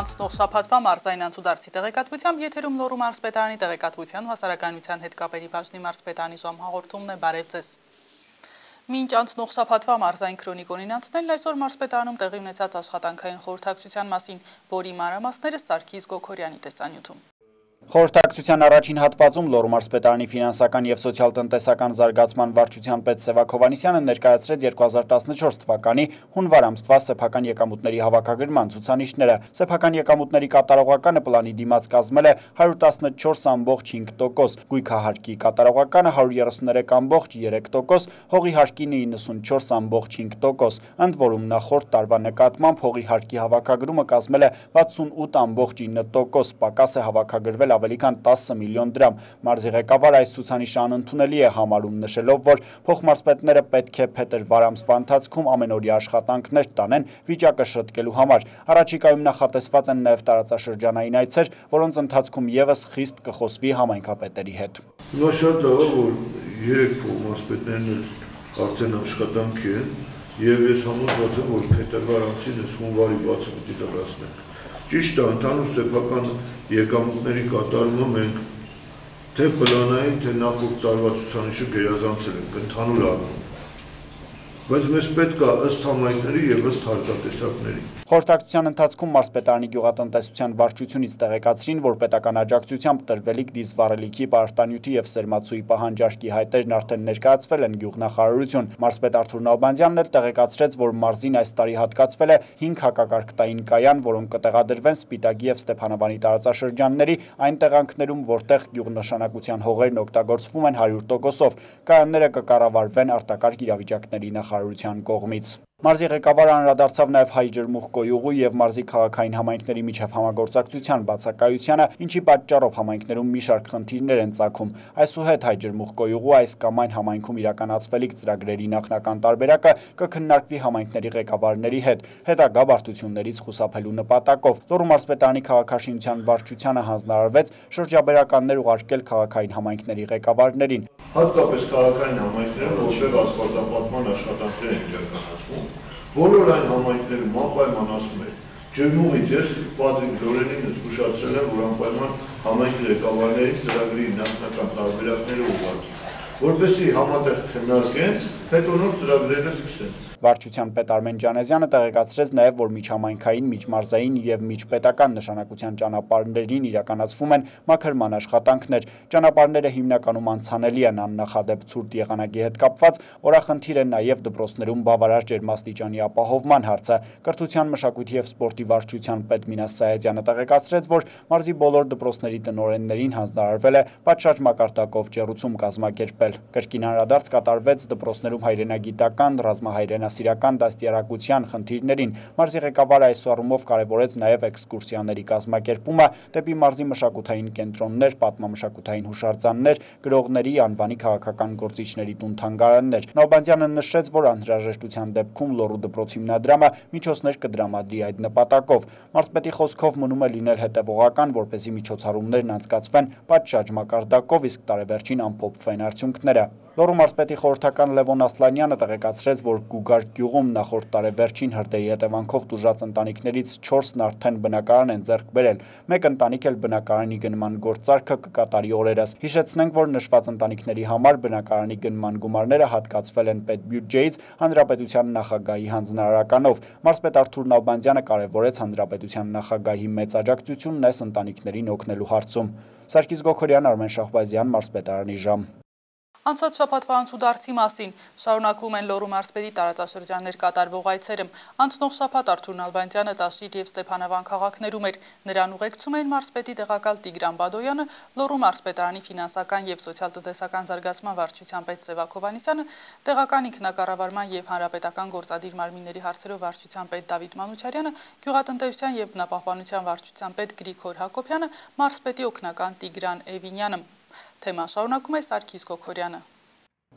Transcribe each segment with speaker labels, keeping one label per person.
Speaker 1: Անցնող շաբաթվա մարզային անցուդարձի տեղեկատվությամբ եթերում Լոռու մարզպետարանի տեղեկատվության ու հասարակայնության հետ կապերի բաժնի մարզպետարանի ժամ հաղորդումն է, բարև ձեզ։ Մինչ անցնող շաբաթվա մարզային քրոնիկոնին անցնելն այսօր մարզպետարանում տեղի ունեցած աշխատանքային խորհրդակցության մասին, որի մանրամասները Սարգիս Գոքորյանի տեսանյութում։
Speaker 2: Խորհրդակցության առաջին հատվածում Լոռու մարզպետարանի ֆինանսական և սոցիալ-տնտեսական զարգացման վարչության պետ Սևակ Հովհաննիսյանը ներկայացրեց 2014 թվականի հունվար ամսվա սեփական եկամուտների հավաքագրման ցուցանիշները։ Սեփական եկամուտների կատարողականը պլանի դիմաց կազմել է 114,5%, գույքահարկի կատարողականը 133,3%, հողի հարկի 94,5%, ընդ որում նախորդ տարվա նկատմամբ հողի հարկի հավաքագրումը կազմել է 68,9%, պակաս է հավաքագրվել ավելի քան 10 միլիոն դրամ։ Մարզի ղեկավարը այս ցուցանիշը անընդունելի է համարում, նշելով, որ փոխմարզպետները պետք է փետրվար ամսվա ընթացքում ամենօրյա աշխատանքներ տանեն վիճակը շտկելու համար։ Առաջիկայում նախատեսված են նաև տարածաշրջանային այցեր, որոնց ընթացքում ևս խիստ կխոսվի համայնքապետերի հետ։
Speaker 3: Հիմա շատ լավ է, որ 3 փոխմարզպետներն արդեն աշխատանքի են, եւ ես համոզված եմ, որ փետրվար ամսին հունվարի 60-ը պիտի դրացնենք։ Ճիշտ է, ընդհանուր սեփական եկամուտների կատարումը մենք թե պլանային, թե նախորդ տարվա ցուցանիշը գերազանցել ենք ընդհանուր առումով, բայց մեզ պետք է ըստ համայնքների եւ ըստ հարկատեսակների։
Speaker 2: Խորհրդակցության ընթացքում մարզպետարանի գյուղատնտեսության վարչությունից տեղեկացրին, որ պետական աջակցությամբ տրվելիք դիզվառելիքի, պարտանյութի եւ սերմացուի պահանջարկի հայտերն արդեն ներկայացվել են գյուղնախարարություն։ Մարզպետ Արթուր Նալբանդյանն էլ տեղեկացրեց, որ մարզին այս տարի հատկացվել է 5 հակակարգտային կայան, որոնք կտեղադրվեն Սպիտակի եւ Ստեփանավանի տարածաշրջանների այն տեղանքներում, որտեղ գյուղնշանակության հողերն օգտագործվում են 100%-ով։ Կայանները կկառավարվեն արտակարգ իրավիճակների նախարարության կողմից։ Մարզի ղեկավարը անդրադարձավ նաև հայ ջրմուղ-կոյուղու եւ մարզի քաղաքային համայնքների միջև համագործակցության բացակայությանը, ինչի պատճառով համայնքներում մի շարք խնդիրներ են ծագում։ Այսուհետ հայ ջրմուղ-կոյուղու այս կամ այն համայնքում իրականացվելիք ծրագրերի նախնական տարբերակը կքննարկվի համայնքների ղեկավարների հետ, հետագա բարդություններից խուսափելու նպատակով։ Լոռու մարզպետարանի քաղաքաշինության վարչությանը հանձնարարվեց շրջաբերականներ ուղարկել քաղաքային համայնքների ղեկավարներին։
Speaker 3: Հատկապես քաղաքային համայնքները, որտեղ ասֆալտապատման աշխատանքներ են իրականացվում, բոլոր այն համայնքներում անպայման ասում է, ջրմուղից ես Պատրիկ Լորենին զգուշացրել եմ, որ անպայման համայնքի ղեկավարների ծրագրի նախնական տարբերակները ուղարկի, որպեսզի համատեղ քննարկեն, հետո նոր ծրագրերը սկսեն։
Speaker 2: Վարչության պետ Արմեն Ջանեզյանը տեղեկացրեց նաև, որ միջհամայնքային, միջմարզային եւ միջպետական նշանակության ճանապարհներին իրականացվում են մաքրման աշխատանքներ։ Ճանապարհները հիմնականում անցանելի են աննախադեպ ցուրտ եղանակի հետ կապված, օրախնդիր է նաև դպրոցներում բավարար ջերմաստիճանի ապահովման հարցը։ Կրթության, մշակույթի եւ սպորտի վարչության պետ Մինաս Սայադյանը տեղեկացրեց, որ մարզի բոլոր դպրոցների տնօրեններին հանձնարարվել է պատշաճ մակարդակով ջեռուցում կազմակերպել։ Կրկին անդրադարձ կատարվեց դպրոցներում հայրենագիտական, ռազմահայրենասիրական դաստիարակության խնդիրներին։ Մարզի ղեկավարը այս առումով կարևորեց նաև էքսկուրսիաների կազմակերպումը դեպի մարզի մշակութային կենտրոններ, պատմամշակութային հուշարձաններ, գրողների, անվանի քաղաքական գործիչների տուն-թանգարաններ։ Նալբանդյանը նշեց, որ անհրաժեշտության դեպքում Լոռու դպրոց հիմնադրամը միջոցներ կդրամադրի այդ նպատակով։ Մարզպետի խոսքով մնում է լինել հետևողական, որպեսզի միջոցառումներն անցկացվեն պատշաճ մակարդակով, իսկ տարեվերջին ամփոփվեն արդյունքները։ Լոռու մարզպետի խորհրդական Լևոն Ասլանյանը տեղեկացրեց, որ Գուգարք գյուղում նախորդ տարեվերջին հրդեհի հետևանքով տուժած ընտանիքներից 4-ն արդեն բնակարան են ձեռք բերել։ Մեկ ընտանիք էլ բնակարանի գնման գործարքը կկատարի օրերս։ Հիշեցնենք, որ նշված ընտանիքների համար բնակարանի գնման գումարները հատկացվել են պետբյուջեից հանրապետության նախագահի հանձնարարականով։ Մարզպետ Արթուր Նալբանդյանը կարևորեց հանրապետության նախագահի մեծ աջակցությունն այս ընտանիքներին օգնելու հարցում։ Սարգիս Գոքորյան, Արմեն Շահբազյան, մարզպետարանի ժամ։
Speaker 1: Անցած շաբաթվա անցուդարձի մասին շարունակվում են Լոռու մարզպետի տարածաշրջաններ կատարվող այցերը։ Անցնող շաբաթ Արթուր Նալբանդյանը Տաշիր եւ Ստեփանավան քաղաքներում էր։ Նրան ուղեկցում էին մարզպետի տեղակալ Տիգրան Բադոյանը, Լոռու մարզպետարանի ֆինանսական եւ սոցիալ-տնտեսական զարգացման վարչության պետ Սևակ Հովհաննիսյանը, տեղական ինքնակառավարման եւ հանրապետական գործադիր մարմինների հարցերով վարչության պետ Դավիթ Մանուչարյանը, գյուղատնտեսության եւ բնապահպանության վարչության պետ Գրիգոր Հակոբյանը, մարզպետի օգնական Տիգրան Էվինյանը։ Թեման շարունակում է Սարգիս Գոքորյանը։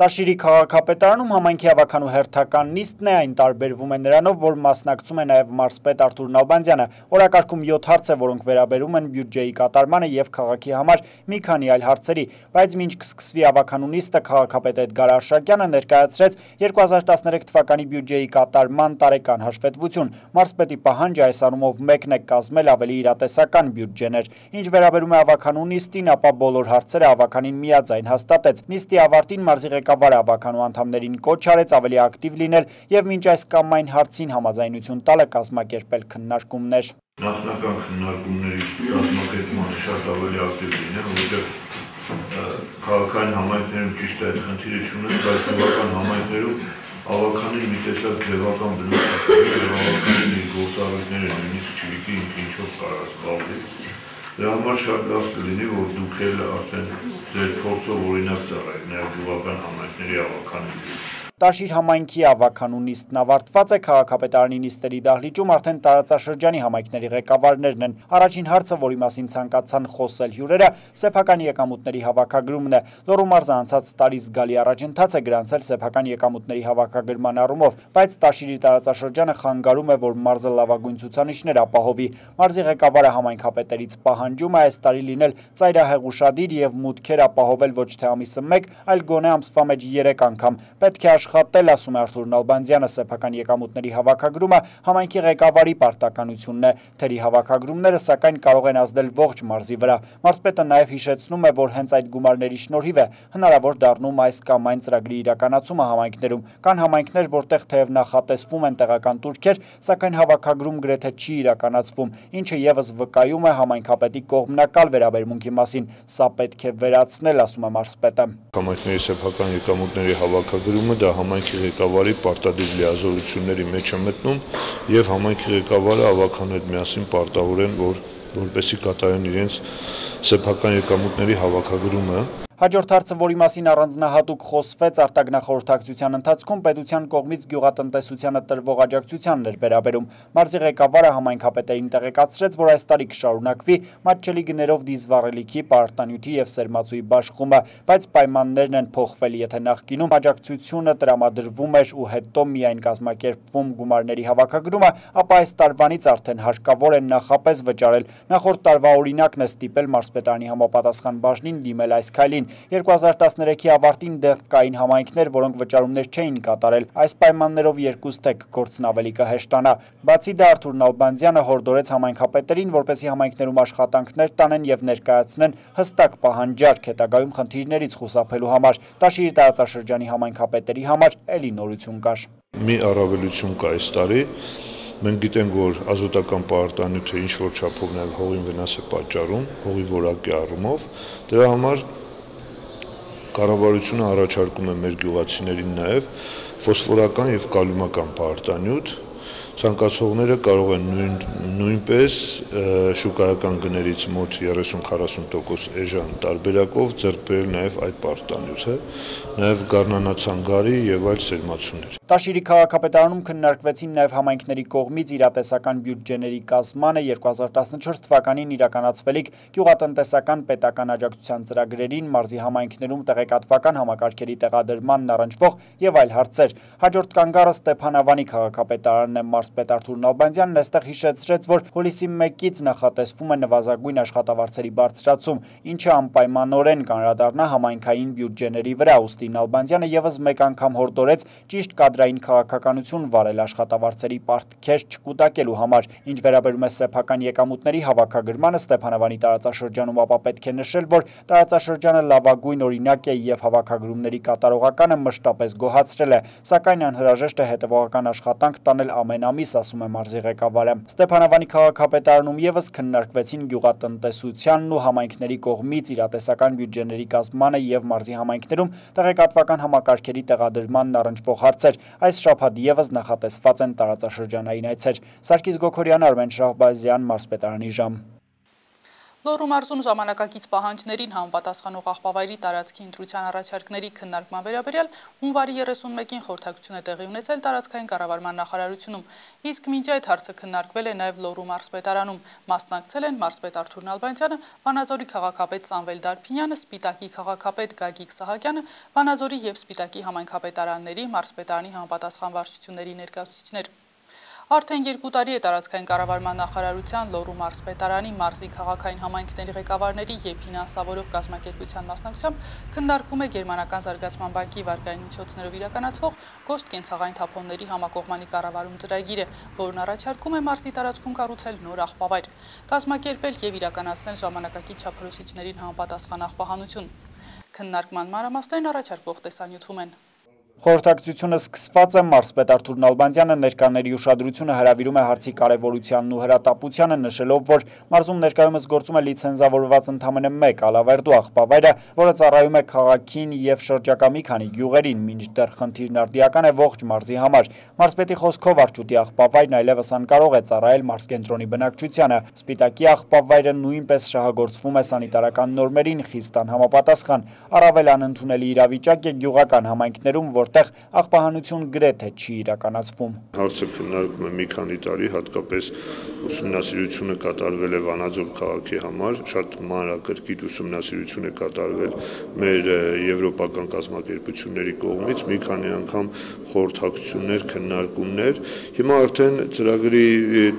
Speaker 2: Տաշիրի քաղաքապետարանում համայնքի ավականու հերթական նիստն է, այն տարբերվում է նրանով, որ մասնակցում է նաև մարզպետ Արթուր Նալբանդյանը։ Օրակարգում 7 հարց է, որոնք վերաբերում են բյուջեի կատարմանը եւ քաղաքի համար մի քանի այլ հարցերի, բայց մինչ կսկսվի ավականու նիստը, քաղաքապետ Էդգար Արշակյանը ներկայացրեց 2013 թվականի բյուջեի կատարման տարեկան հաշվետվություն։ Մարզպետի պահանջը այս առումով մեկն է կազմել ավելի իրատեսական բյուջեներ։ Ինչ վերաբերում է ավականու նիստին, ապա բոլոր հարցերը ավականին միաձայն հաստատեց։ Նիստի ավարտին մարզի ղեկավարը ավականու անդամներին կոչ արեց ավելի ակտիվ լինել եւ մինչ այս կամ այն հարցին համաձայնություն տալը կազմակերպել քննարկումներ։
Speaker 3: Նախնական քննարկումների կազմակերպմանը շատ ավելի ակտիվ լինել, որովհետեւ քաղաքային համայնքներում ճիշտ է այդ խնդիրը չունեն, բայց քաղաքական համայնքներում ավականին մի տեսակ ձևական բնույթ է, եւ ավականին իր գործառույթները նույնիսկ չգիտի ինչով կարող զբաղվի։ Դրա համար շատ լավ կլինի, որ դուք էլ արդեն ձեր փորձով օրինակ ծառայեք նաև գյուղական համայնքների ավականին։
Speaker 2: Տաշիր համայնքի ավականու նիստն ավարտված է, քաղաքապետարանի նիստերի դահլիճում արդեն տարածաշրջանի համայնքների ղեկավարներն են։ Առաջին հարցը, որի մասին ցանկացան խոսել հյուրերը, սեփական եկամուտների հավաքագրումն է։ Լոռու մարզը անցած տարի զգալի առաջընթաց է գրանցել սեփական եկամուտների հավաքագրման առումով, բայց Տաշիրի տարածաշրջանը խանգարում է, որ մարզը լավագույն ցուցանիշներ ապահովի։ Մարզի ղեկավարը համայնքապետերից պահանջում է այս տարի լինել ծայրահեղ ուշադիր եւ մուտքեր ապահովել ոչ թե ամիսը 1, այլ գոնե ամսվա մեջ 3 անգամ։ Պետք է աշխատել, ասում է Արթուր Նալբանդյանը, սեփական եկամուտների հավաքագրումը համայնքի ղեկավարի պարտականությունն է։ Թերի հավաքագրումները սակայն կարող են ազդել ողջ մարզի վրա։ Մարզպետը նաև հիշեցնում է, որ հենց այդ գումարների շնորհիվ է հնարավոր դառնում այս կամ այն ծրագրի իրականացումը համայնքներում։ Կան համայնքներ, որտեղ թեև նախատեսվում են տեղական տուրքեր, սակայն հավաքագրում գրեթե չի իրականացվում, ինչը եւս վկայում է համայնքապետի կողմնակալ վերաբերմունքի մասին։ Սա պետք է վերացնել, ասում է մարզպետը։
Speaker 3: Համայնքների սեփական եկամուտների հավաքագրումը դա համայնքի ղեկավարի պարտադիր լիազորությունների մեջ է մտնում եւ համայնքի ղեկավարը ավականու հետ միասին պարտավոր են, որպեսզի կատարեն իրենց սեփական եկամուտների հավաքագրումը։
Speaker 2: Հաջորդ հարցը, որի մասին առանձնահատուկ խոսվեց արտագնախորհրդակցության ընթացքում, պետության կողմից գյուղատնտեսությանը տրվող աջակցությանն էր վերաբերում։ Մարզի ղեկավարը համայնքապետերին տեղեկացրեց, որ այս տարի կշարունակվի մատչելի գներով դիզվառելիքի, պարտանյութի եւ սերմացուի բաշխումը, բայց պայմաններն են փոխվել, եթե նախկինում աջակցությունը տրամադրվում էր ու հետո միայն կազմակերպվում գումարների հավաքագրումը, ապա այս տարվանից արդեն հարկավոր է նախապես վճարել։ Նախորդ տարվա օրինակն է ստիպել մարզպետարանի համապատասխան բաժնին դիմել այս քայլին։ 2013-ի ավարտին դեռ կային համայնքներ, որոնք վճարումներ չէին կատարել։ Այս պայմաններով երկուստեք գործն ավելի կհեշտանա։ Բացի դա, Արթուր Նալբանդյանը հորդորեց համայնքապետերին, որպեսզի համայնքներում աշխատանքներ տանեն եւ ներկայացնեն հստակ պահանջարկ հետագայում խնդիրներից խուսափելու համար։ Տաշիրի տարածաշրջանի համայնքապետերի համար էլի նորություն կար։
Speaker 3: Մի առավելություն կա այս տարի։ Մենք գիտենք, որ ազոտական պարտանյութը ինչ-որ չափով նաև հողին վնաս է պատճառում, հողի որակի առումով։ Դրա համար կառավարությունը առաջարկում է մեր գյուղացիներին նաև ֆոսֆորական եւ կալիումական պարտանյութ։ Ցանկացողները կարող են նույնպես շուկայական գներից մոտ 30-40% էժան տարբերակով ձեռք բերել նաև այդ պարտանյութը, նաև գառնանացանգարի եւ այլ սերմացուներ։
Speaker 2: Տաշիրի քաղաքապետարանում քննարկվեցին նաև համայնքների կողմից իրատեսական բյուջեների կազմանը 2014 թվականին իրականացվելիք գյուղատնտեսական պետական աջակցության ծրագրերին, մարզի համայնքներում տեղեկատվական համակարգերի տեղադրմանն առնչվող եւ այլ հարցեր։ Հաջորդ կանգառը Ստեփանավանի քաղաքապետարանն է։ Մարզպետ Արթուր Նալբանդյանն այստեղ հիշեցրեց, որ հուլիսի 1-ից նախատեսվում է նվազագույն աշխատավարձերի բարձրացում, ինչը անպայմանորեն կանրադառնա համայնքային բյուջեների վրա։ Ուստի Նալբանդյանը եւս մեկ անգամ հորդորեց ճիշտ կադրային քաղաքականություն վարել աշխատավարձերի պարտքեր չկուտակելու համար։ Ինչ վերաբերում է սեփական եկամուտների հավաքագրմանը Ստեփանավանի տարածաշրջանում, ապա պետք է նշել, որ տարածաշրջանը լավագույն օրինակ է եւ հավաքագրումների կատարողականը մշտապես գոհացրել է, սակայն անհրաժեշտ է հետևողական աշխատանք տանել ամեն ամիս, ասում է մարզի ղեկավարը։ Ստեփանավանի քաղաքապետարանում եւս քննարկվեցին գյուղատնտեսությանն ու համայնքների կողմից իրատեսական բյուջեների կազմմանը եւ մարզի համայնքներում տեղեկատվական համակարգերի տեղադրմանն առնչվող հարցեր։ Այս շաբաթ եւս նախատեսված են տարածաշրջանային այցեր։ Սարգիս Գոքորյան, Արմեն Շահբազյան, մարզպետարանի ժամ։
Speaker 1: Լոռու մարզում ժամանակակից պահանջներին համապատասխանող աղբավայրի տարածքի ընտրության առաջարկների քննարկման վերաբերյալ հունվարի 31-ին խորհրդակցություն է տեղի ունեցել տարածքային կառավարման նախարարությունում, իսկ մինչ այդ հարցը քննարկվել է նաև Լոռու մարզպետարանում, մասնակցել են մարզպետ Արթուր Նալբանդյանը, Վանաձորի քաղաքապետ Սամվել Դարփինյանը, Սպիտակի քաղաքապետ Գագիկ Սահակյանը, Վանաձորի եւ Սպիտակի համայնքապետարանների, մարզպետարանի համապատասխան վարչությունների ներկայացուցիչներ։ Արդեն 2 տարի է տարածքային կառավարման նախարարության Լոռու մարզպետարանի մարզի քաղաքային համայնքների ղեկավարների եւ ֆինանսավորող կազմակերպության մասնակցությամբ քննարկվում է Գերմանական զարգացման բանկի վարկային միջոցներով իրականացվող կոշտ կենցաղային թափոնների համակողմանի կառավարում ծրագիրը, որն առաջարկում է մարզի տարածքում կառուցել նոր աղբավայր, կազմակերպել եւ իրականացնել ժամանակակից չափորոշիչներին համապատասխան աղբահանություն։ Քննարկման մանրամասներն առաջարկվող տեսանյութում են։
Speaker 2: Խորհրդակցությունը սկսված է, մարզպետ Արթուր Նալբանդյանը ներկաների ուշադրությունը հրավիրում է հարցի կարևորությանն ու հրատապությանը, նշելով, որ մարզում ներկայումս գործում է լիցենզավորված ընդամենը 1 ալավերդու աղբավայրը, որը ծառայում է քաղաքին եւ շրջակա մի քանի գյուղերին, մինչդեռ խնդիրն արդիական է ողջ մարզի համար։ Մարզպետի խոսքով Արճուտի աղբավայրն այլևս անկարող է ծառայել մարզկենտրոնի բնակչությանը։ Սպիտակի աղբավայրը նույնպես շահագործվում է սանիտարական նորմերին խիստ անհամապատասխան։ Առավել անընդունելի իրավիճակ է գյուղական համայնքներում, որտեղ աղբահանություն գրեթե չի իրականացվում։
Speaker 3: Հարցը քննարկվում է մի քանի տարի, հատկապես ուսումնասիրությունը կատարվել է Վանաձոր քաղաքի համար, շատ մանրակրկիտ ուսումնասիրություն է կատարվել մեր եվրոպական կազմակերպությունների կողմից, մի քանի անգամ խորհրդակցություններ, քննարկումներ։ Հիմա արդեն ծրագրի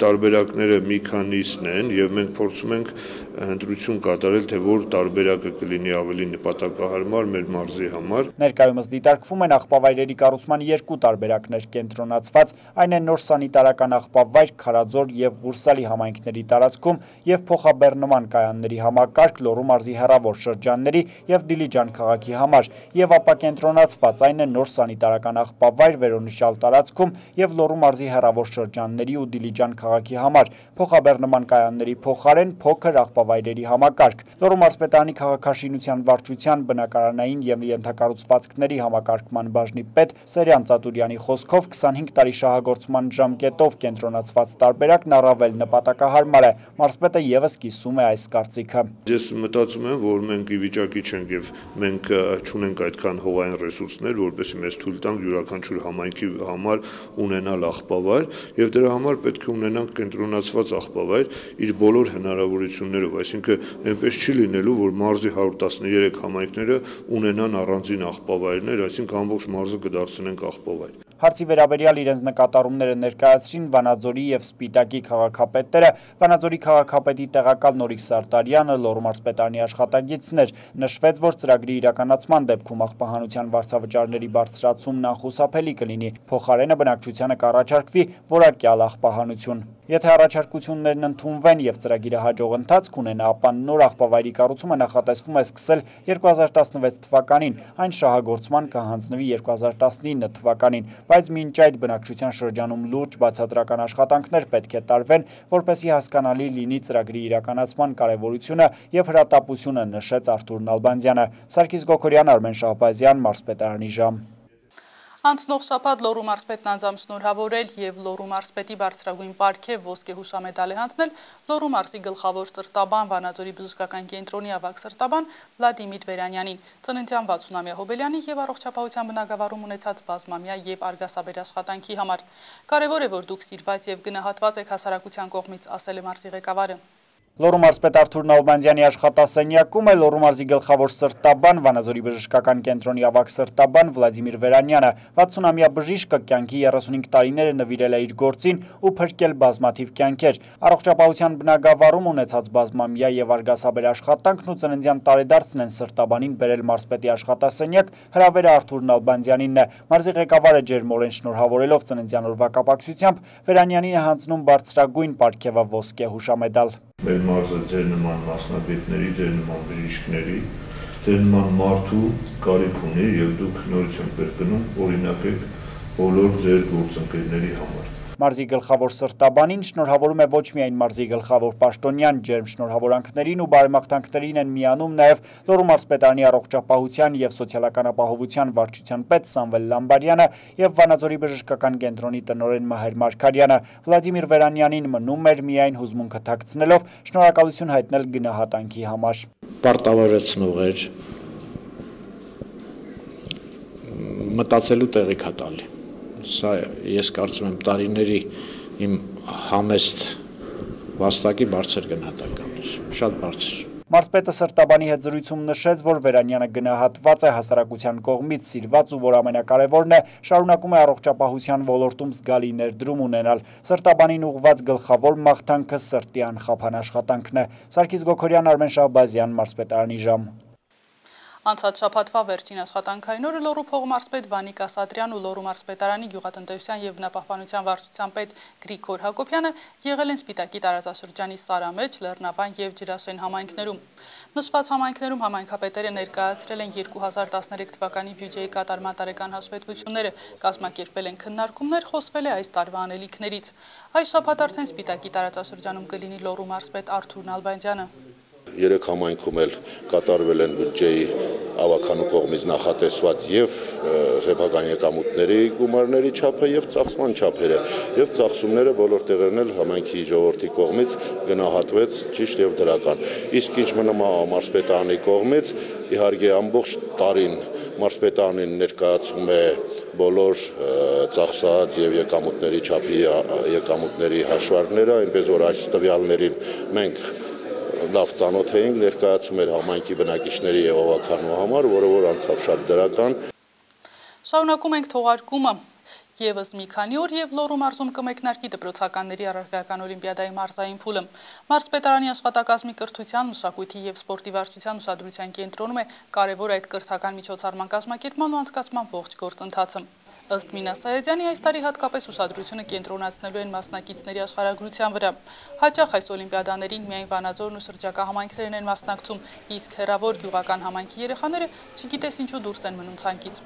Speaker 3: տարբերակները մի քանիսն են եւ մենք փորձում ենք ընտրություն կատարել, թե որ տարբերակը կլինի ավելի նպատակահարմար մեր մարզի համար։
Speaker 2: Ներկայումս դիտարկվում են աղբավայրերի կառուցման 2 տարբերակներ կենտրոնացված, այն է նոր սանիտարական աղբավայր Քարաձոր եւ Ղուրսալի համայնքների տարածքում եւ փոխաբեռնման կայանների համակարգ Լոռու մարզի հեռավոր շրջանների եւ Դիլիջան քաղաքի համար, եւ ապա կենտրոնացված այն է նոր սանիտարական աղբավայր վերոնշյալ տարածքում եւ Լոռու մարզի հեռավոր շրջանների ու Դիլիջան քաղաքի համար, փոխաբեռնման կայանների փոխարեն փոքր աղբավայրերի համակարգ։ Լոռու մարզպետարանի քաղաքաշինության վարչության բնակարանային եւ ենթակառուցվածքների համակարգման բաժնի պետ Սերյան Ծատուրյանի խոսքով 25 տարի շահագործման ժամկետով կենտրոնացված տարբերակն առավել նպատակահարմար է։ Մարզպետը եւս կիսում է այս կարծիքը։
Speaker 3: Ես մտածում եմ, որ մենք ի վիճակի չենք եւ մենք չունենք այդքան հողային ռեսուրսներ, որպեսզի մեզ թույլ տանք յուրաքանչյուր համայնքի համար ունենալ աղբավայր եւ դրա համար պետք է ունենանք կենտրոնացված աղբավայր իր բոլոր հնարավորություններով, այսինքն այնպես չի լինելու, որ մարզի 113 համայնքները ունենան առանձին աղբավայրներ, այսինքն ամբողջ մարզը կդարձնենք աղբավայր։
Speaker 2: Հարցի վերաբերյալ իրենց նկատառումները ներկայացրին Վանաձորի եւ Սպիտակի քաղաքապետերը, Վանաձորի քաղաքապետի տեղակալ Նորիկ Սարտարյանը, Լոռու մարզպետարանի աշխատագիծներ։ Նշվեց, որ ծրագրի իրականացման դեպքում աղբահանության վարձավճարների բարձրացումն անխուսափելի կլինի, փոխարենը բնակչությանը կառաջարկվի որակյալ աղբահանություն։ Եթե առաջարկություններն ընդունվեն եւ ծրագիրը հաջող ընթացք ունենա, ապա նոր աղբավայրի կառուցումը նախատեսվում է սկսել 2016 թվականին, այն շահագործման կհանձնվի 2019 թվականին, բայց մինչ այդ բնակչության շրջանում լուրջ բացատրական աշխատանքներ պետք է տարվեն, որպեսզի հասկանալի լինի ծրագրի իրականացման կարևորությունը եւ հրատապությունը, նշեց Արթուր Նալբանդյանը։ Սարգիս Գոքորյան, Արմեն Շահբազյան, մարզպետարանի ժամ։
Speaker 1: Անցնող շաբաթ Լոռու մարզպետն անձամբ շնորհավորել եւ Լոռու մարզպետի բարձրագույն պարգև ոսկե հուշամեդալ է հանձնել Լոռու մարզի գլխավոր սրտաբան Վանաձորի բժշկական կենտրոնի ավագ սրտաբան Վլադիմիր Վերանյանին, ծննդյան 60-ամյա հոբելյանի եւ առողջապահության բնագավառում ունեցած բազմամյա եւ արգասաբեր աշխատանքի համար։ Կարևոր է, որ դուք սիրված եւ գնահատված եք հասարակության կողմից, ասել է մարզի ղեկավարը։
Speaker 2: Լոռու մարզպետ Արթուր Նալբանդյանի աշխատասենյակում է Լոռու մարզի գլխավոր սրտաբան, Վանաձորի բժշկական կենտրոնի ավագ սրտաբան Վլադիմիր Վերանյանը 60-ամյա բժիշկը կյանքի 35 տարիները նվիրել է իր գործին ու փրկել բազմաթիվ կյանքեր։ Առողջապահության բնագավառում ունեցած բազմամյա եւ արգասաբեր աշխատանքն ու ծննդյան տարեդարձն են սրտաբանին բերել մարզպետի աշխատասենյակ, հրավերը Արթուր Նալբանդյանին է։ Մարզի ղեկավարը ջերմորեն շնորհավորելով ծննդյան օրվա կապակցությամբ Վերանյանին է հանձնում բարձրագույն պարգևը ոսկե հուշամեդալ։
Speaker 3: Մեր մարզը ձեր նման մասնագետների, ձեր նման բժիշկների, ձեր նման մարդու կարիք ունի եւ դուք նորից եք կրկնում օրինակ եք բոլոր ձեր գործընկերների համար։
Speaker 2: Մարզի գլխավոր սրտաբանին շնորհավորում է ոչ միայն մարզի գլխավոր պաշտոնյան, ջերմ շնորհավորանքներին ու բարեմաղթանքներին են միանում նաև Լոռու մարզպետարանի առողջապահության և սոցիալական ապահովության վարչության պետ Սամվել Լամբարյանը և Վանաձորի բժշկական կենտրոնի տնօրեն Մահեր Մարգարյանը։ Վլադիմիր Վերանյանին մնում էր միայն հուզմունքը թաքցնելով շնորհակալություն հայտնել գնահատանքի համար։
Speaker 4: Պարտավորեցնող էր, մտածելու տեղիք է տալի։ Սա ես կարծում եմ տարիների իմ համեստ վաստակի բարձր գնահատական էր, շատ բարձր։
Speaker 2: Մարզպետը սրտաբանի հետ զրույցում նշեց, որ Վերանյանը գնահատված է հասարակության կողմից սիրված ու որ ամենակարևորն է շարունակում է առողջապահության ոլորտում զգալի ներդրում ունենալ։ Սրտաբանին ուղղված գլխավոր մաղթանքը սրտի անխափան աշխատանքն է։ Սարգիս Գոքորյան, Արմեն Շահբազյան, մարզպետարանի ժամ։
Speaker 1: Անցած շաբաթվա վերջին աշխատանքային օրը Լոռու փողմարզպետ Վանիկ Ասատրյան ու Լոռու մարզպետարանի գյուղատնտեսության և բնապահպանության վարչության պետ Գրիգոր Հակոբյանը եղել են Սպիտակի տարածաշրջանի Սարամեջ, Լեռնավան և Ջրաշեն համայնքներում։ Նշված համայնքներում համայնքապետերը ներկայացրել են 2013 թվականի բյուջեի կատարման տարեկան հաշվետվությունները, կազմակերպել են քննարկումներ, խոսվել է այս տարվա անելիքներից։ Այս շաբաթ արդեն Սպիտակի տարածաշրջանում կլինի Լոռու մարզպետ Արթուր Նալբանդյանը։
Speaker 5: Երեք համայնքում էլ կատարվել են բյուջեի ավականու կողմից նախատեսված և սեփական եկամուտների գումարների չափը և ծախսման չափերը և ծախսումները բոլոր տեղերն էլ համայնքի ժողովրդի կողմից գնահատվեց ճիշտ և դրական։ Իսկ ինչ մնում է մարզպետարանի կողմից, իհարկե ամբողջ տարին մարզպետարանին ներկայացում է բոլոր ծախսած և եկամուտների չափի եկամուտների հաշվարկները, այնպես որ այս տվյալներին մենք լավ ծանոթ էինք, ներկայացում էր համայնքի բնակիչների և ավականու համար, որը որ անցավ շատ դրական։
Speaker 1: Շարունակում ենք թողարկումը։ Եվս մի քանի օր և Լոռու մարզում կմեկնարկի դպրոցականների առարկայական օլիմպիադայի մարզային փուլը։ Մարզպետարանի աշխատակազմի կրթության, մշակույթի և սպորտի վարչության ուշադրության կենտրոնում է կարևոր այդ կրթական միջոցառման կազմակերպման ու անցկացման ողջ գործընթացը։ Ըստ Մինա Սայեդյանի այս տարի հատկապես ուշադրությունը կենտրոնացնելու են մասնակիցների աշխարհագրության վրա։ Հաճախ այս օլիմպիադաներին միայն Վանաձորն ու շրջակա համայնքներն են մասնակցում, իսկ հեռավոր գյուղական համայնքի երեխաները չգիտես ինչու դուրս են մնում ցանկից։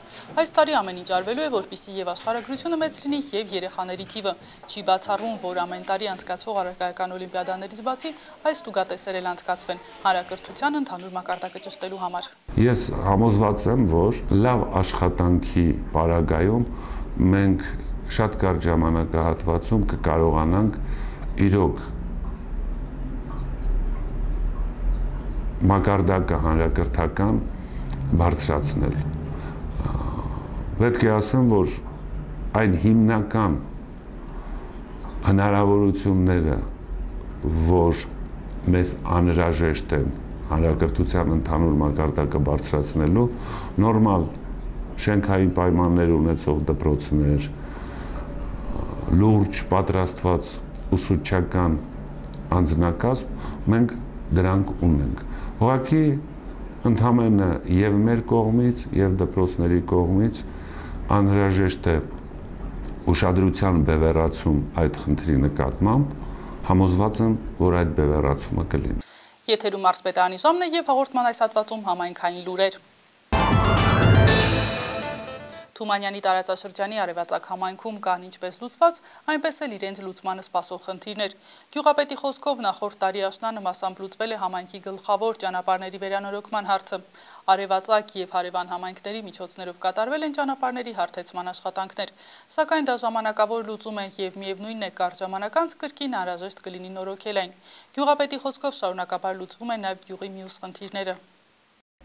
Speaker 1: Այս տարի ամեն ինչ արվելու է, որպեսզի եւ աշխարհագրությունը մեծ լինի եւ երեխաների թիվը։ Չի բացառվում, որ ամեն տարի անցկացվող առարկայական օլիմպիադաներից բացի այս տուգատեսեր էլ անցկացվեն հանրակրթության ընդհանուր մակարդակը ճշտելու համար։
Speaker 6: Ես համոզված եմ, որ լավ աշխատանքի պարագայում մենք շատ կարճ ժամանակահատվածում կկարողանանք իրոք մակարդակը հանրակրթական բարձրացնել։ Պետք է ասեմ, որ այն հիմնական հնարավորությունները, որ մեզ անհրաժեշտ են հանրակրթության ընդհանուր մակարդակը բարձրացնելու, նորմալ շենքային պայմաններ ունեցող դպրոցներ, լուրջ պատրաստված ուսուցչական անձնակազմ, մենք դրանք ունենք։ Ուղղակի ընդհանրապես եւ մեր կողմից եւ դպրոցների կողմից անհրաժեշտ է ուշադրության բևեռացում այդ խնդրի նկատմամբ, համոզված եմ, որ այդ բևեռացումը կլինի։
Speaker 1: Եթերում մարզպետարանի ժամն է և հաղորդման այս հատվածում համայնքային լուրեր։ Թումանյանի տարածաշրջանի արևածագ համայնքում կան ինչպես լուծված, այնպես էլ իրենց լուծմանը սպասող խնդիրներ։ Գյուղապետի խոսքով նախորդ տարի աշնանը մասամբ լուծվել է համայնքի գլխավոր ճանապարհների վերանորոգման հարցը։ Արևածագ և հարևան համայնքների միջոցներով կատարվել են ճանապարհների հարթեցման աշխատանքներ, սակայն դա ժամանակավոր լուծում է և միևնույնն է կարճ ժամանակ անց կրկին անհրաժեշտ կլինի նորոգել այն։ Գյուղապետի խոսքով շարունակաբար լուծվում են նաև գյուղի մյուս խնդիրները։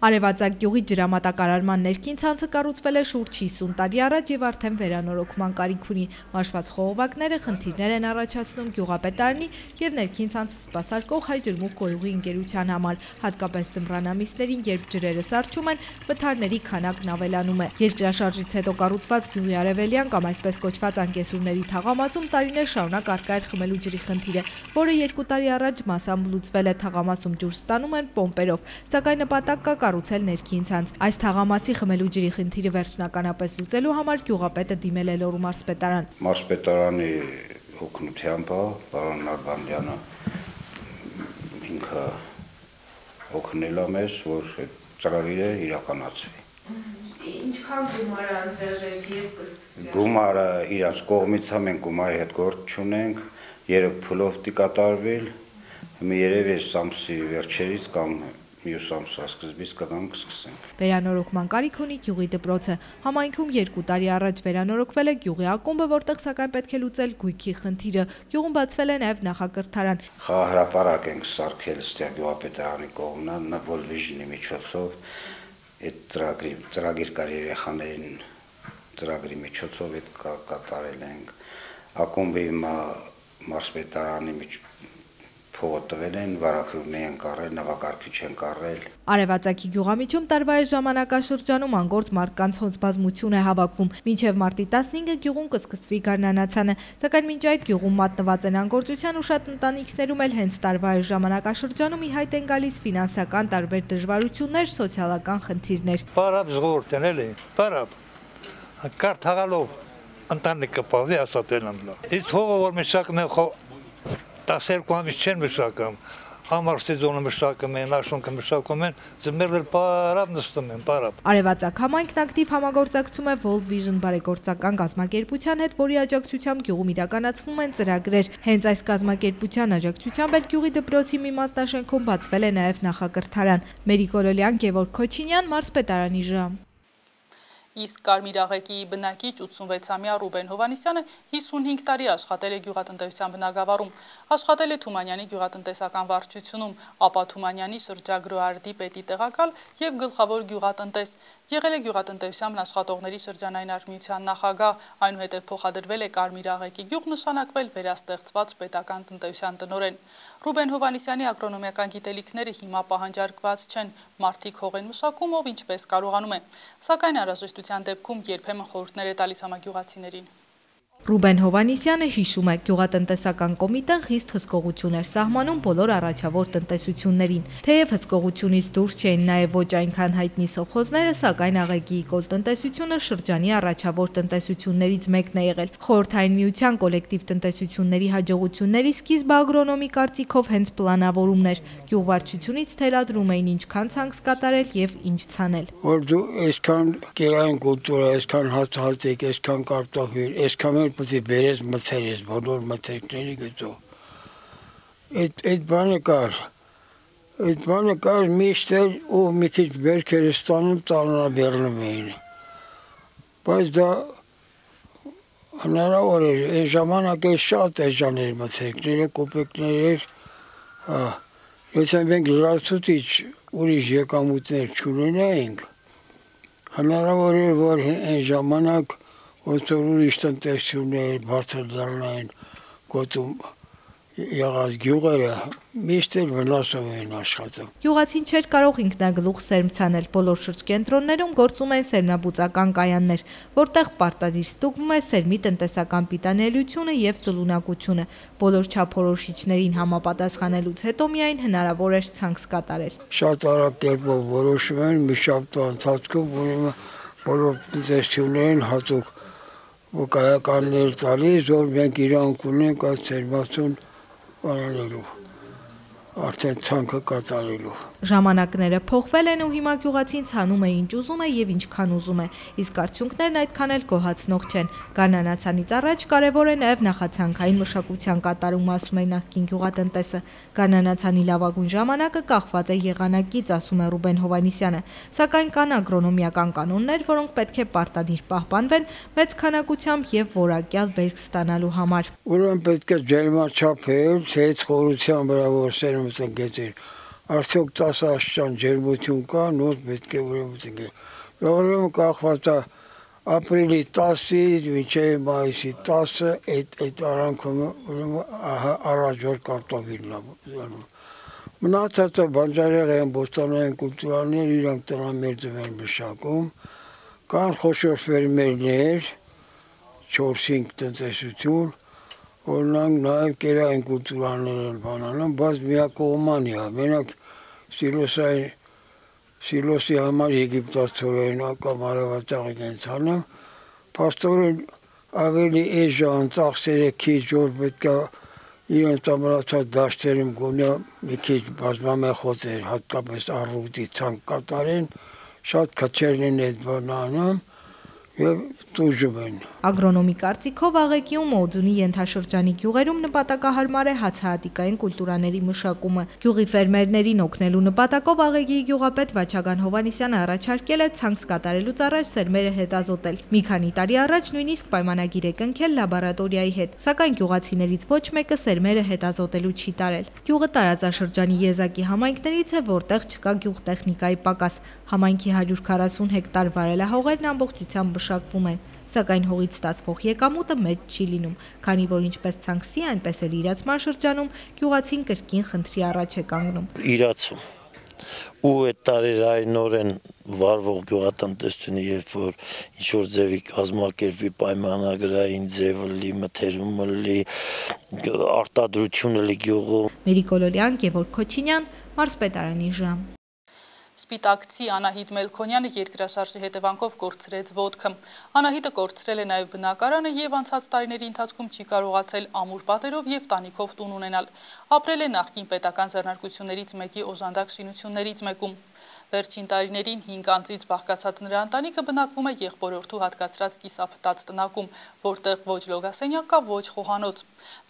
Speaker 7: Արևածագ գյուղի ջրամատակարարման ներքին ցանցը կառուցվել է շուրջ 50 տարի առաջ եւ արդեն վերանորոգման կարիք ունի։ Մաշված խողովակները խնդիրներ են առաջացնում գյուղապետարանի եւ ներքին ցանցը սպասարկող Հայ ջրմուղ գոյուղի ընկերության համար, հատկապես ձմռան ամիսներին, երբ ջրերը սառչում են, վթարների քանակն ավելանում է։ Երկրաշարժից հետո կառուցված գյուղի արևելյան կամ այսպես կոչված անկեսուրների թաղամասում տարիներ շարունակ առկա էր խմելու ջրի խնդիրը, որը 2 տարի առաջ մասամբ լուծվել է։ Թաղամասում ջուր ստանում են պոմպերով, սակայն նպատակ կա կառուցել ներքին ցանց։ Այս թաղամասի խմելու ջրի խնդիրը վերջնականապես լուծելու համար գյուղապետը դիմել է Լոռու մարզպետարան։
Speaker 8: Մարզպետարանի օգնությամբ պարոն Նալբանդյանը ինքը օգնել է մեզ, որ ծրագիրը իրականացվի։
Speaker 9: Ինչքան գումար անհրաժեշտ եւ կսկսվի։
Speaker 8: Գումարը իրաց կողմից մենք գումարի հետ գործ չունենք, երբ փլով դի կատարվել, մի երևի ամսի վերջերից կամ մյուս ամսվա սկզբից կսկսենք։
Speaker 7: Վերանորոգման կարիք ունի գյուղի դպրոցը։ Համայնքում 2 տարի առաջ վերանորոգվել է գյուղի ակումբը, որտեղ սակայն պետք է լուծել գույքի խնդիրը։ Գյուղում բացվել է նաև նախակրթարան։
Speaker 8: Խաղահրապարակ ենք սարքել ստեղ գյուղապետարանի կողմնան, World Vision-ի միջոցով, այդ ծրագիր կար երեխաներին ծրագրի միջոցով այդ կատարել ենք։ Ակումբի մարզպետարանի փողը տվել են, վարակյուրներ են կառել, նավակարգիչ են կառել։
Speaker 7: Արևածագի գյուղամիջում տարվա այս ժամանակաշրջանում անգործ մարդկանց հոց բազմություն է հավաքվում։ Մինչև մարտի 15-ը գյուղում կսկսվի գարնանացանը, սակայն մինչ այդ գյուղում մատնված են անգործության ու շատ ընտանիքներում էլ հենց տարվա այս ժամանակաշրջանում ի հայտ են գալիս ֆինանսական տարբեր դժվարություններ, սոցիալական խնդիրներ։
Speaker 10: Պարապ զղորտ են էլի, պարապ, կար թաղալով ընտանիքը պավի ասատել ամլա։ Իսկ հողը որ մշակում են 12 ամիս չեն մշակում, համար սեզոնը մշակում են, աշունքը մշակում են, ձմեռել պարապ նստում են, պարապ։
Speaker 7: Արևածագ համայնքն ակտիվ համագործակցում է World Vision բարեգործական կազմակերպության հետ, որի աջակցությամբ գյուղում իրականացվում են ծրագրեր։ Հենց այս կազմակերպության աջակցությամբ էլ գյուղի դպրոցի մի մասնաշենքում բացվել է նաև նախակրթարան։ Մերի Կոլոլյան, Գևորգ Քոչինյան, մարզպետարանի ժամ։
Speaker 1: Իսկ Կարմիրաղեկի բնակիչ 86-ամյա Ռուբեն Հովանիսյանը 55 տարի աշխատել է գյուղատնտեսության բնագավառում, աշխատել է Թումանյանի գյուղատնտեսական վարչությունում, ապա Թումանյանի շրջագրոարդի պետի տեղակալ և գլխավոր գյուղատնտես, եղել է գյուղատնտեսության աշխատողների շրջանային արհմիության նախագահ, այնուհետև փոխադրվել է Կարմիրաղեկի գյուղ, նշանակվել վերաստեղծված պետական տնտեսության տնօրեն։ Ռուբեն Հովանիսյանի ագրոնոմիական գիտելիքները հիմա պահանջարկված չեն, մարդիկ հող են մշակում, ով ինչպես կարողանում է, սակայն անհրաժեշտության դեպքում երբեմն խորհուրդներ է տալիս համագյուղացիներին։
Speaker 7: Ռուբեն Հովանիսյանը հիշում է, գյուղատնտեսական կոմիտեն խիստ հսկողություն էր սահմանում բոլոր առաջավոր տնտեսություններին։ Թեև հսկողությունից դուրս չէին նաև ոչ այնքան հայտնի սովխոզները, սակայն Աղեգիի կոլտնտեսությունը շրջանի առաջավոր տնտեսություններից մեկն է եղել։ Խորհրդային միության կոլեկտիվ տնտեսությունների հաջողությունների սկիզբը ագրոնոմի կարծիքով հենց պլանավորումն էր։ Գյուղվարչությունից թելադրում էին ինչքան ցանց կատարել եւ ինչ ցանել։
Speaker 11: Որ դու այսքան կերային կուլտուրա, այսքան հացահատիկ, այսքան կարտոֆիլ, այսքան պետք է բերես մթերես, բոլոր մթերքների գծով։ Այդ բանը կար միշտ էր ու մի քիչ բերքեր ստանում տանրաբեռնում էին։ Բայց դա հնարավոր էր, այն ժամանակ շատ էժան էր մթերքները, կոպեկներ էր, եթե մենք լրացուցիչ ուրիշ եկամուտներ չունենայինք, հնարավոր էր, որ այն ժամանակ ոնց որ ուրիշ տնտեսություններ բարձր դառնային գոտում եղած գյուղերը միշտ էլ վնասով էին աշխատում։
Speaker 7: Գյուղացին չէր կարող ինքնագլուխ սերմ ցանել, բոլոր շրջկենտրոններում գործում են սերմնաբուծական կայաններ, որտեղ պարտադիր ստուգվում է սերմի տնտեսական պիտանելիությունը եւ ծլունակությունը։ Բոլոր չափորոշիչներին համապատասխանելուց հետո միայն հնարավոր էր ցանց կատարել։
Speaker 11: Շատ արագ կերպով որոշում են մի շաբաթվա ընթացքում, ուրեմն բոլոր տնտեսություններին հատուկ կայականներ տալիս, որ մենք իրանք ունենք այդ սերմացուն անելու, արդեն ցանքը կատարելու։
Speaker 7: Ժամանակները փոխվել են ու հիմա գյուղացին ցանում է ինչ ուզում է եւ ինչքան ուզում է, իսկ արդյունքներն այդքան էլ գոհացնող չեն։ Գարնանացանից առաջ կարևոր է նաեւ նախացանքային մշակության կատարումը, ասում է նախկին գյուղատնտեսը։ Գարնանացանի լավագույն ժամանակը կախված է եղանակից, ասում է Ռուբեն Հովանիսյանը, սակայն կան ագրոնոմիական կանոններ, որոնք պետք է պարտադիր պահպանվեն մեծ քանակությամբ եւ որակյալ բերք ստանալու համար։
Speaker 11: Ուրեմն պետք է ջերմաչափել, ցեծ խորության վրա որ սերմը տնկեցին։ Արդյոք 10 աստիճան ջերմություն կա, նոր պետք է ուրեմն տնկել։ Դա ուրեմն կախված է ապրիլի 10-ից մինչև մայիսի 10-ը այդ արանքում ուրեմն առաջ որ կարտոֆիլն է։ Մնացածը բանջարեղեն, բոստանային կուլտուրաներ իրանք տնամերձով են մշակում, կան խոշոր ֆերմերներ, 4-5 տնտեսություն, օրինակ նաև կերային կուլտուրաներ են բանանում, բայց միակողմանի է, մենակ սիլոսի համար եգիպտացորեն կամ արևածաղիկ են ցանում, փաստորեն ավելի էժան ծախսերը քիչ որ պետք է իրենց ամրացած դաշտերում գոնե մի քիչ բազմամեխոց էր, հատկապես առուտի ցանկ կատարեն, շատ քչերն են այդ բանը անում եւ տուժում են։
Speaker 7: Ագրոնոմի կարծիքով Աղեկիում Օձունի ենթաշրջանի գյուղերում նպատակահարմար է հացահատիկային կուլտուրաների մշակումը։ Գյուղի ֆերմերներին օգնելու նպատակով Աղեկիի գյուղապետ Վաչագան Հովհաննիսյանը առաջարկել է ցանց կատարելուց առաջ սերմերը հետազոտել։ Մի քանի տարի առաջ նույնիսկ պայմանագիր է կնքել լաբորատորիայի հետ, սակայն գյուղացիներից ոչ մեկը սերմերը հետազոտելու չի տարել։ Գյուղը տարածաշրջանի եզակի համայնքներից է, որտեղ չկա գյուղտեխնիկայի պակաս։ Համայնքի 140 հեկտար վարելահողերն ամբողջությամբ մշակվում են, սակայն հողից ստացվող եկամուտը մեծ չի լինում, քանի որ ինչպես ցանքսի, այնպես էլ իրացման շրջանում գյուղացին կրկին խնդրի առաջ է կանգնում։
Speaker 12: Իրացում ու այդ տարերայնորեն վարվող գյուղատնտեսությունը, երբ որ ինչ-որ ձևի կազմակերպի պայմանագրային ձևը լի, մթերումը լի, արտադրությունը լի գյուղում։
Speaker 7: Մերիկոլոլյան, Գևորգ Քոչինյան, Մարզպետարանի ժամ։
Speaker 1: Սպիտակցի Անահիտ Մելքոնյանը երկրաշարժի հետևանքով կորցրեց ոտքը։ Անահիտը կորցրել է նաև բնակարանը եւ անցած տարիների ընթացքում չի կարողացել ամուր պատերով եւ տանիքով տուն ունենալ։ Ապրել է նախկին պետական ձեռնարկություններից մեկի օժանդակ շինություններից մեկում։ Վերջին տարիներին 5 անձից բաղկացած նրա ընտանիքը բնակվում է եղբորորդու հատկացրած կիսափտած տնակում, որտեղ ոչ լոգասենյակ կա, ոչ խոհանոց։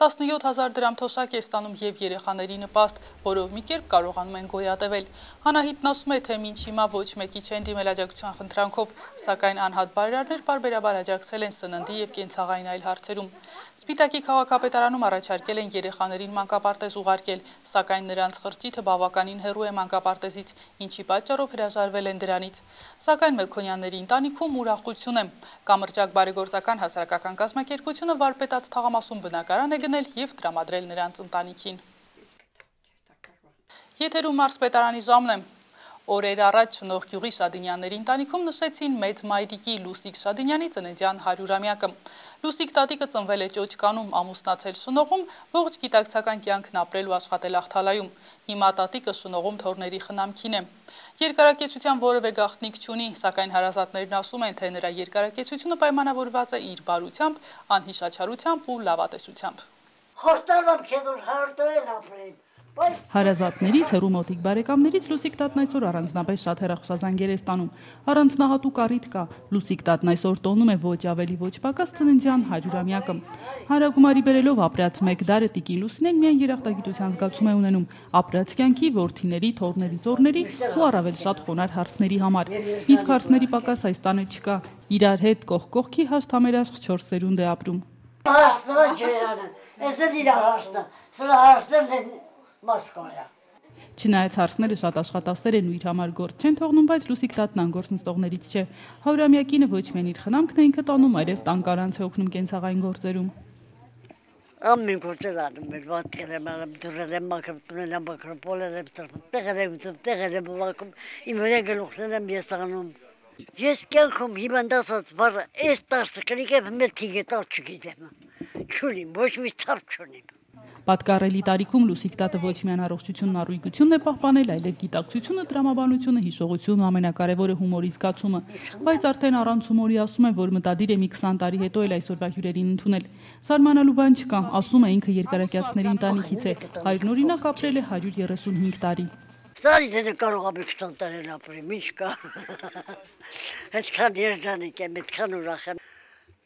Speaker 1: 17,000 դրամ թոշակ է ստանում եւ երեխաների նպաստ, որով մի կերպ կարողանում են գոյատևել։ Անահիտն ասում է, թե մինչ հիմա ոչ մեկի չեն դիմել աջակցության խնդրանքով, սակայն անհատ բարերարներ պարբերաբար աջակցել են սննդի եւ կենցաղային այլ հարցերում։ Սպիտակի քաղաքապետարանում առաջարկել են երեխաներին մանկապարտեզ ուղարկել, սակայն նրանց խրճիթը բավականին հեռու է մանկապարտեզից, ինչի պատճառով հրաժարվել են դրանից։ Սակայն Մելքոնյանների ընտանիքում ուրախություն է։ Կամրջակ բարեգործական հասարակական կազմակերպությունը վարպետաց թաղամասում բնակարան է գնել եւ տրամադրել նրանց ընտանիքին։ Եթերում Մարզպետարանի ժամն է։ Օրեր առաջ Շնորհ գյուղի Շադինյանների ընտանիքում նշեցին մեծ մայրիկի Լուսիկ Շադինյանի ծննդյան 100-ամյակը։ Լուսիկ տատիկը ծնվել է Ճոճկանում, ամուսնացել Շնողում, ողջ գիտակցական կյանքն ապրել ու աշխատել Ախթալայում։ Հիմա տատիկը Շնողում թորների խնամքին է։ Երկարակեցության որևէ գաղտնիք չունի, սակայն հարազատներն ասում են, թե նրա երկարակեցությունը պայմանավորված է իր բարությամբ, անհիշաչարությամբ ու լավատեսությամբ։
Speaker 13: Խոստալամ քեզ որ հարդել ապրեմ։
Speaker 1: Հարազատներից, հեռու մոտիկ բարեկամներից Լուսիկ տատն այսօր առանձնապես շատ հեռախոսազանգեր է ստանում։ Առանձնահատուկ առիթ կա։ Լուսիկ տատն այսօր տոնում է ոչ ավելի ոչ պակաս ծննդյան 100-ամյակը։ Հանրագումարի բերելով ապրած մեկ դարը տիկին Լուսինեն միայն երախտագիտության զգացում է ունենում ապրած կյանքի, որդիների, թոռների, ծոռների ու առավել շատ խոնարհ հարցների համար։ Իսկ հարցների պակաս այս տանը չկա։ Իրար հետ կողք կողքի հաշտ համերաշխ 4 սերունդ է ապրում։
Speaker 13: Հաշտը ջերանը, ես էլ իր հաշտը, սրա հաշտը Մոսկվայա։
Speaker 1: Չնայած հարցները շատ աշխատասեր են ու իր համար գործ չեն թողնում, բայց Լուսիկ տատն անգործ նստողներից չէ։ 100-ամյակինը ոչ միայն իր խնամքն է ինքը տանում, այլև տան կանանց է օգնում կենցաղային գործերում։
Speaker 13: Ամեն գործեր անում եմ, վատկել եմ, դուրել եմ, մակրտունել եմ, մակրոպոլել եմ, տեղել եմ, վակում, իմ վրա գլուխնել եմ, ես տանում։ Ես կյանքում հիվանդացած վառը, այս տաշտը կնիկ եմ, մեր թիգը տալ չգիտեմ, չունիմ, ոչ մի ծարկ չունիմ։
Speaker 1: Պատկառելի տարիքում Լուսիկ տատը ոչ միայն առողջությունն առույգությունն է պահպանել, այլև գիտակցությունը, տրամաբանությունը, հիշողությունը, ամենակարևորը հումորի զգացումը, բայց արդեն առանց հումորի ասում է, որ մտադիր է մի 20 տարի հետո էլ այսօրվա հյուրերին ընդունել։ Սարմանալու բան չկա, ասում է ինքը երկարակյացների ընտանիքից է, հայրն օրինակ ապրել է 135 տարի։
Speaker 13: Տարի դե կարող եմ 20 տարի ապրեմ, ինչ կա։ Այդքան երջանիկ եմ, այդքան ուրախ եմ։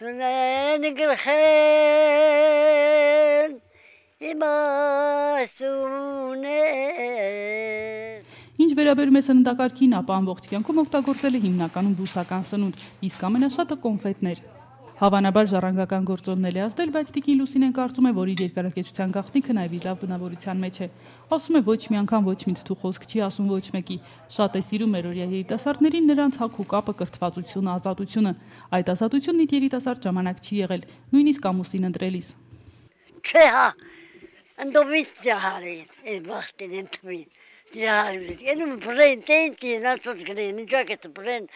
Speaker 13: Դունեն գլխեն
Speaker 1: Ինչ վերաբերում է սննդակարգին, ապա ամբողջ կյանքում օգտագործել է հիմնականում բուսական սնունդ, իսկ ամենաշատը կոնֆետներ։ Հավանաբար ժառանգական գործոնն էլ է ազդել, բայց տիկին Լուսինեն կարծում է, որ իր երկարակեցության գաղտնիքը նաև իր լավ բնավորության մեջ է։ Ասում է, ոչ մի անգամ ոչ մի թթու խոսք չի ասում ոչ մեկի։ Շատ է սիրում մերօրյա երիտասարդներին նրանց հոգ ու կապը, կրթվածությունը, ազատությունը։ Այդ ազատությունն իր երիտասարդ ժամանակ չի եղել, նույնիսկ ամուսին ընտրելիս։
Speaker 13: Չէ, հա, ընդովից դահարին, այդ վաղտին ընդվին, դահարին, ենում բրեն, տենտին, ասած գնեն, ինչակ էտ բրեն,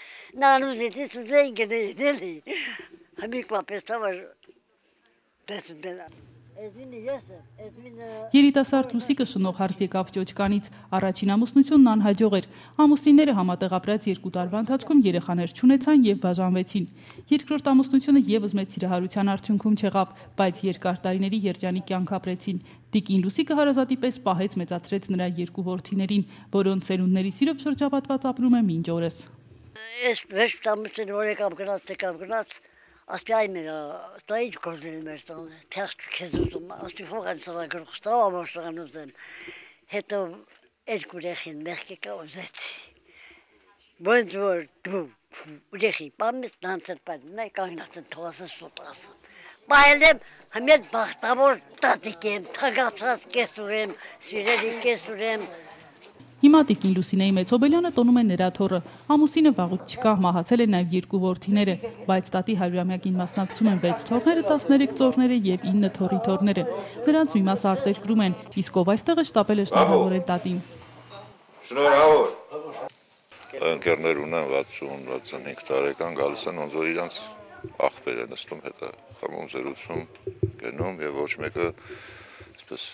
Speaker 13: նանուզետից ուզեն գնեն, էլի, համիկվա պեստավար տեսում դենան։
Speaker 1: Երիտասարդ Լուսիկը Շնող հարց եկավ Ճոճկանից, առաջին ամուսնությունն անհաջող էր, ամուսինները համատեղ ապրած 2 տարվա ընթացքում երեխաներ չունեցան և բաժանվեցին։ Երկրորդ ամուսնությունը ևս մեծ սիրահարության արդյունքում չեղավ, բայց երկար տարիների երջանիկ կյանք ապրեցին։ Տիկին Լուսիկը հարազատի պես պահեց մեծացրեց նրա 2 որդիներին, որոնց սերունդների սիրով շրջապատված ապրում է մինչ օրս։
Speaker 13: Ես վեշ տամուսին որ եկավ գնաց, ասպի այ մեր, դա ինչ գործել է մեր տանը, թեղ քեզ ուզում, ասպի փող են ծրագրող, ստավ ամոշտան ուզեմ, հետո երկու երեխին մեղքի կա ուզեցի, ոնց որ դու երեխի պամես նանցել պարին, նայ կանգնած են թողասը սոտասը, բայց եմ համետ բախտավոր տատիկ եմ, թագացած կեսուր եմ, սիրելի կեսուր եմ,
Speaker 1: Հիմա Տիկին Լուսինեի Մեծոբելյանը տոնում է նրա թոռը, ամուսինը վաղուց չկա, մահացել են նաև երկու որդիները, բայց տատի 100-ամյակին մասնակցում են 6 թոռները, 13 ծոռները եւ 9 թոռի թոռները։ Նրանց մի մասը արտերկրում են, իսկ ով այստեղը շտապել է շնորհավորել տատին։
Speaker 5: Շնորհավոր։ Ընկերներ ունեն 60-65 տարեկան, գալիս են ոնց որ իրանց աղբեր են նստում, հետո խմում զրուցում, գնում եւ ոչ մեկը այսպես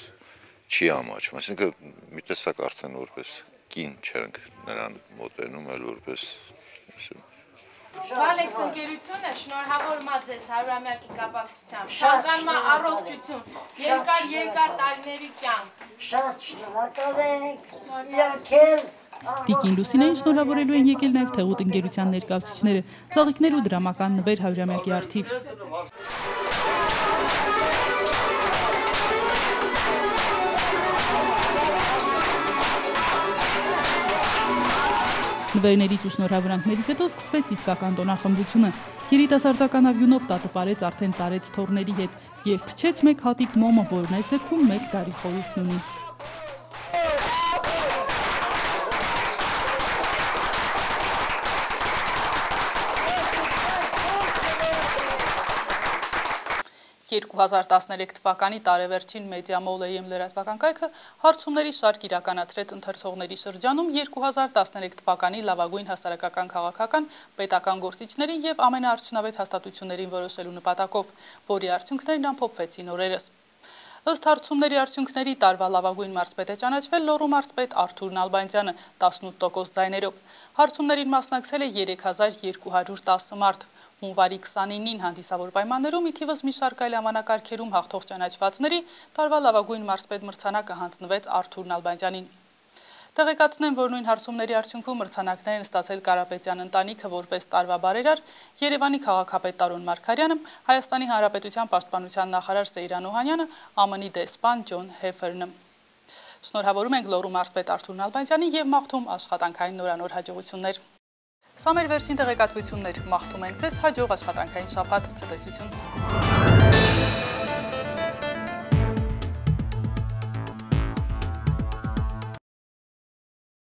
Speaker 5: չի ամաչում, այսինքն մի տեսակ արդեն որպես կին չենք նրան մոտենում, այլ որպես
Speaker 9: Վալեքս ընկերությունը շնորհավորմա ձեզ 100-ամյակի կապակցությամբ, ցանկանում եմ առողջություն, երկար տարիների կյանք։
Speaker 13: Շատ շնորհակալ ենք, իրանքել
Speaker 1: Տիկին Լուսինեին շնորհավորելու են եկել նաև Թեղուտ ընկերության ներկայացուցիչները, ծաղիկներ ու դրամական նվեր 100-ամյակի առթիվ։ Նվերներից ու շնորհավորանքներից հետո սկսվեց իսկական տոնախմբությունը։ Երիտասարդական ավյունով տատը պարեց արդեն տարեց թոռների հետ եւ փչեց մեկ հատիկ մոմը, որն այս դեպքում 1 տարի խորհուրդն ունի։ «2013 թվականի տարեվերջին Մեդիա Մոլ AM լրատվական կայքը հարցումների շարք իրականացրեց ընթերցողների շրջանում 2013 թվականի լավագույն հասարակական քաղաքական պետական գործիչներին եւ ամենաարդյունավետ հաստատություններին որոշելու նպատակով, որի արդյունքներն ամփոփվեցին օրերս։ Ըստ հարցումների արդյունքների տարվա լավագույն մարզպետ է ճանաչվել Լոռու մարզպետ Արթուր Նալբանդյանը 18% ձայներով։ Հարցումներին մասնակցել է 3210 մարդ։ Հունվարի 29-ին հանդիսավոր պայմաններում ի թիվս մի շարք այլ անվանակարգերում հաղթող ճանաչվածների տարվա լավագույն մարզպետ մրցանակը հանձնվեց Արթուր Նալբանդյանին։ Տեղեկացնեմ, որ նույն հարցումների արդյունքում մրցանակներ են ստացել Կարապետյան ընտանիքը որպես տարվա բարերար, Երևանի քաղաքապետ Տարոն Մարգարյանը, Հայաստանի Հանրապետության պաշտպանության նախարար Սեյրան Օհանյանը, ԱՄՆ-ի դեսպան Ջոն Հեֆերնը։ Շնորհավորում ենք Լոռու մարզպետ Արթուր Նալբանդյանին եւ մաղթում աշխատանքային նորանոր հաջողություններ։ Սա մեր վերջին տեղեկատվություններ, մաղթում ենք ձեզ հաջող աշխատանքային շաբաթ, ցտեսություն։